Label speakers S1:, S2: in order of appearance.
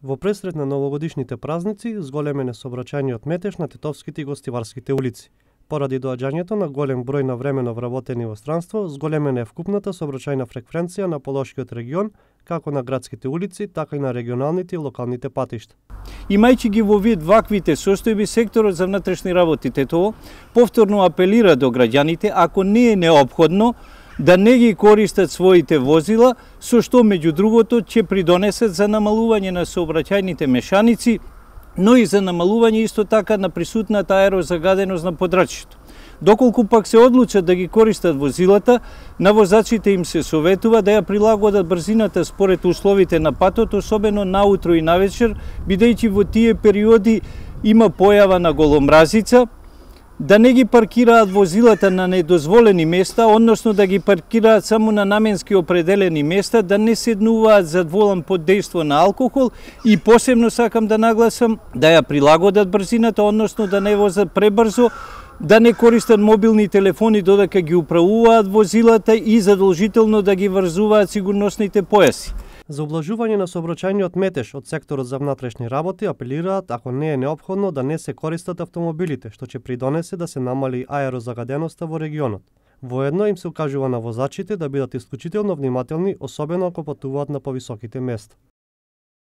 S1: Во пресрет на новогодишните празници, зголемени сообраќајниот метеж на Тетовските и Гостиварските улици. Поради доаѓањето на голем број на времено вработени во странство, зголемена е вкупната сообраќајна фреквенција на Полошкиот регион, како на градските улици, така и на регионалните и локалните патишта.
S2: Имајќи ги во вид ваквите состојби, секторот за внатрешни работи Тетово повторно апелира до граѓаните, ако не е неопходно, да не ги користат своите возила, со што меѓу другото ќе придонесат за намалување на сообраќајните мешаници, но и за намалување исто така на присутната аерозагаденост на подрачјето. Доколку пак се одлучат да ги користат возилата, на возачите им се советува да ја прилагодат брзината според условите на патот, особено наутро и навечер, бидејќи во тие периоди има појава на голомразица, да не ги паркираат возилата на недозволени места, односно да ги паркираат само на наменски определени места, да не седнуваат зад волан под дејство на алкохол и посебно сакам да нагласам да ја прилагодат брзината, односно да не возат пребрзо, да не користат мобилни телефони додека ги управуваат возилата и задолжително да ги врзуваат сигурносните појаси.
S1: За ублажување на сообраќајниот метеж од секторот за внатрешни работи апелираат, ако не е неопходно, да не се користат автомобилите, што ќе придонесе да се намали аерозагаденоста во регионот. Воедно им се укажува на возачите да бидат исклучително внимателни, особено ако патуваат на повисоките места.